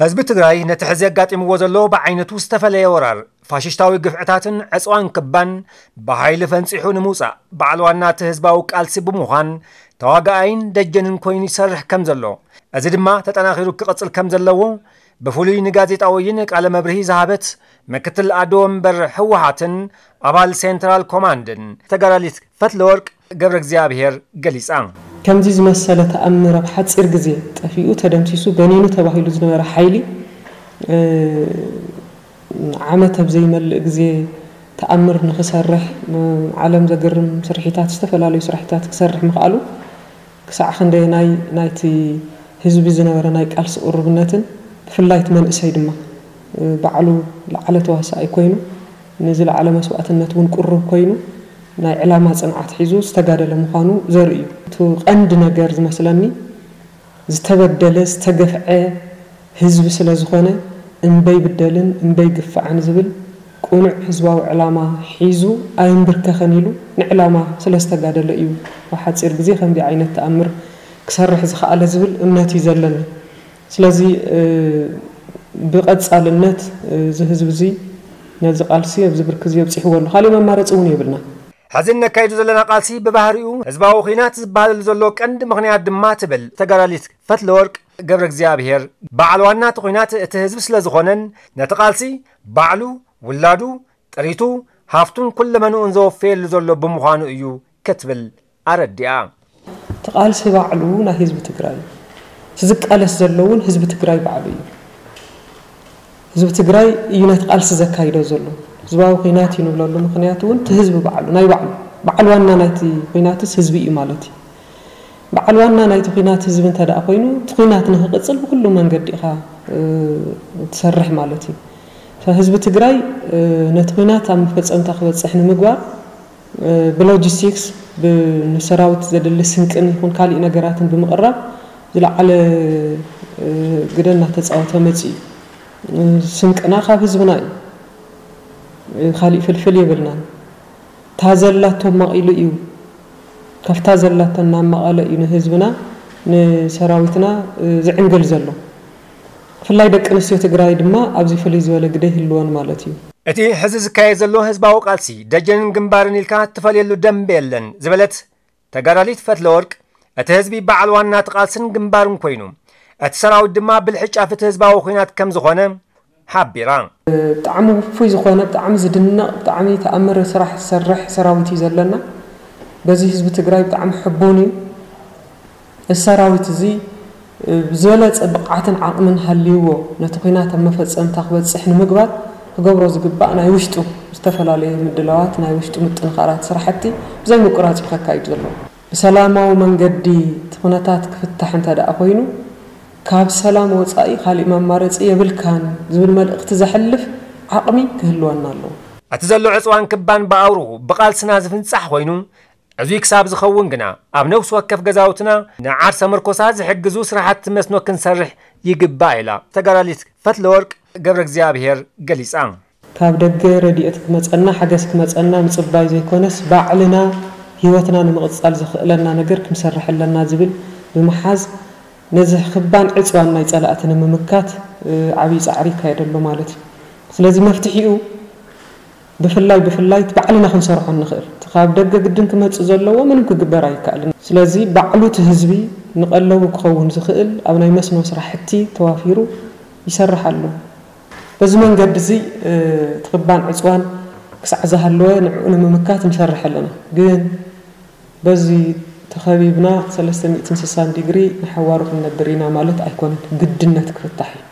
ህዝቢ ትግራይ ነቲ ሕዚ ኣጋጢምዎ ዘሎ ብዓይነቱ ዝተፈለየ ወራር፣ ፋሽስታዊ ግፍዕታትን ዕፅዋን ክባን ብሓይሊ ፈንፂሑ ንምውፃእ በዓል ዋና እቲ ህዝባዊ ቃልሲ ብምዃን ተዋጋኣይን ደጀንን ኮይኑ ይሰርሕ ከም ዘሎ፣ እዚ ድማ ተጠናኺሩ ክቕፅል ከም ዘለዎ ብፍሉይ ንጋዜጣውይን ቃለ መብርሂ ዝሃበት ምክትል ኣዶ ወንበር ህወሓትን ኣባል ሴንትራል ኮማንድን ተጋዳሊት ፈትለወርቅ ገብረ እግዚኣብሔር ገሊጻ። ከምዚ ዝመሰለ ተኣምር ኣብ ሓጺር ግዜ ጠፊኡ፣ ተደምሲሱ፣ በኒኑ ተባሂሉ ዝነበረ ሓይሊ፣ እ፣ ዓመት ኣብ ዘይመልእ ግዜ ተኣምር ንኽሰርሕ፣ ም-፣ ዓለም ዘግርም ስርሒታት፣ ዝተፈላለዩ ስራሒታት ክሰርሕ ምኽኣሉ፣ ክሳዕ ክንደየናይ ናይቲ ህዝቢ ዝነበረ ናይ ቃልሲ ቅሩብነትን ብፍላይ እቲ መንእሰይ ድማ፣ እ፣ ባዕሉ ዝለዓለ ተዋሳኣይ ኮይኑ፣ ንዝለዓለ መስዋእትነት እውን ቅሩብ ኮይኑ፣ ናይ ዕላማ ጽንዓት ሒዙ ዝተጋደለ ምዃኑ ዘርኢ እዩ። እቲ ቀንዲ ነገር ዝመስለኒ፣ ዝተበደለ፣ ዝተገፍዐ ህዝቢ ስለ ዝኾነ፣ እምበይ ብደልን እምበይ ግፋዕን ዝብል ቅኑዕ ህዝባዊ ዕላማ ሒዙ ኣይንብርከኸን ኢሉ ንዕላማ ስለ ዝተጋደለ እዩ ኣብ ሓጺር ግዜ ከምዚ ዓይነት ተኣምር ክሰርሕ ዝኸኣለ ዝብል እምነት እዩ ዘለኒ። ስለዚ፣ እ፣ ብቐጻልነት፣ እ፣ እዚ ህዝቢ እዚ ነዚ ቃልሲ ኣብዚ ብርኪ እዚ ኣብጺሕዎ ኣሎ። ካሊእ መማረጺ እውን የብልና። ሕዚ እነካይዶ ዘለና ቃልሲ ብባህሪኡ ህዝባዊ ኹናት ዝበሃለሉ ዘሎ ቀንዲ ምኽንያት ድማ ትብል ተጋዳሊት ፈትለወርቅ ገብረ እግዚኣብሔር፣ በዓል ዋና እቲ ኹናት እቲ ህዝቢ ስለ ዝኾነን ነቲ ቃልሲ ባዕሉ፣ ውላዱ፣ ጥሪቱ፣ ሃፍቱን ኩለመንኡን ዘወፈየሉ ዘሎ ብምዃኑ እዩ ክትብል ኣረዲኣ። እቲ ቃልሲ ባዕሉ ናይ ህዝቢ ትግራይ እዩ። እቲ ዝቃለስ ዘሎ እውን ህዝቢ ትግራይ ባዕሉ እዩ። ህዝቢ ትግራይ እዩ ነቲ ቃልሲ ዘካይዶ ዘሎ። ህዝባዊ ኹናት እዩ ንብለሉ ምኽንያት እውን እቲ ህዝቢ ባዕሉ፣ ናይ ባዕሉ፣ በዓል ዋና ናይቲ ኹናትስ ህዝቢ እዩ ማለት እዩ። በዓል ዋና ናይቲ ኹናት ህዝቢ እንተ ደኣ ኮይኑ፣ እቲ ኹናት ንኽቕጽል ብኩሉ መንገዲ ኢኻ፣ እ፣ ትሰርሕ ማለት እዩ። ህዝቢ ትግራይ፣ እ፣ ነቲ ኹናት ኣብ መፈጸምታ ክበጽሕ ንምግባር፣ እ፣ ብሎጂስቲክስ፣ ብ-፣ ንሰራዊት ዘድሊ ስንቅን ይኹን ካሊእ ነገራትን ብምቕራብ ዝለዓለ፣ እ፣ ግደ እናተጻወተ መጺኡ እዩ። እ፣ ስንቅና ካብ ህዝብና እዩ። እ፣ ካሊእ ፍልፍል የብልናን። እታ ዘላቶ ኣማቒሉ እዩ። ካብታ ዘላቶ እናማቐለ እዩ ንህዝብና፣ ንሰራዊትና፣ እ፣ ዝዕንግል ዘሎ። ብፍላይ ደቂ ኣንስትዮ ትግራይ ድማ ኣብዚ ፍልይ ዝበለ ግደ ይህልወን ማለት እዩ። እቲ ሕዚ ዝካየድ ዘሎ ህዝባዊ ቃልሲ ደጀንን ግንባርን ኢልካ እትፈልየሉ ደንበ የለን ዝበለት ተጋዳሊት ፈትለወርቅ፣ እቲ ህዝቢ በዓል ዋና እቲ ቃልስን ግንባርን ኮይኑ፣ እቲ ሰራዊት ድማ ብልሒ ጫፍ እቲ ህዝባዊ ኹናት ከም ዝኾነ ሓቢራ። ብጣዕሚ ውፉይ ዝኾነ፣ ብጣዕሚ ዝድነቕ፣ ብጣዕሚ ተኣምር ስራሕ ዝሰርሕ ሰራዊት እዩ ዘለና። በዚ ህዝቢ ትግራይ ብጣዕሚ ሕቡን እዩ። እዚ ሰራዊት እዚ፣ እ፣ ብዝበለጸ ብቕዓትን ዓቕምን ሃልይዎ ነቲ ኲናት ኣብ መፈጸምታ ክበጽሕ ንምግባር ክገብሮ ዝግባእ ናይ ውሽጡ ዝተፈላለየ ምድላዋት፣ ናይ ውሽጡ ምጥንኻራት ስራሕቲ ብዘይ ምቁራጽ እዩ ከካይድ ዘሎ። ብሰላማዊ መንገዲ እቲ ኩነታት ክፍታሕ እንተ ደኣ ኮይኑ፣ ካብ ሰላም ወጻኢ ካሊእ መማረጺ የብልካን ዝብል መልእኽቲ ዘሕልፍ ዓቕሚ ክህልወና ኣለዎ። እቲ ዘሎ ዕጽዋን ክባን ብኣውርኡ ብቓልስና ዝፍንጻሕ ኮይኑ፣ እዚ ክሳብ ዝኸውን ግና ኣብ ነፍሲ ወከፍ ገዛውትና ንዓርሰ ምርኮሳ ዝሕግዙ ስራሕቲ መስኖ ክንሰርሕ ይግባእ ኢላ ተጋዳሊት ፈትለወርቅ ገብረ እግዚኣብሔር ገሊጻ። ካብ ደገ ረድኤት ክመጸና፣ ሓገዝ ክመጸና ምጽባይ ዘይኮነስ፣ ባዕልና ህይወትና ንምቕጻል ዘኽእለና ነገር ክንሰርሕ ኣለና ዝብል ብምሓዝ፣ ነዚ ክባን ዕጽዋን ናይ ጸላእቲ ንምምካት፣ እ፣ ዓብዪ ጻዕሪ ይካየድ ኣሎ ማለት እዩ። ስለዚ መፍትሒኡ ብፍላይ፣ ብፍላይ እቲ ባዕልና ክንሰርሖ እንኽእል። እቲ ካብ ደገ ግድን ክመጽእ ዘለዎ ምንም ክግበር ኣይከኣልን። ስለዚ ባዕሉ እቲ ህዝቢ ንቐለቡ ክኸውን ዝኽእል ኣብ ናይ መስኖ ስራሕቲ ተዋፊሩ ይሰርሕ ኣሎ። በዚ መንገዲ እዚ፣ እ፣ እቲ ክባን ዕጽዋን ክሳዕ ዝሃለወ ንዕኡ ንምምካት ንሰርሕ ኣለና። ግን በዚ ተኸቢብና ሰለስተ ሚእትን ስሳን ዲግሪ ንሓዋሩ ክንነብር ኢና ማለት ኣይኮነን። ግድነት ክፍታሕ እዩ።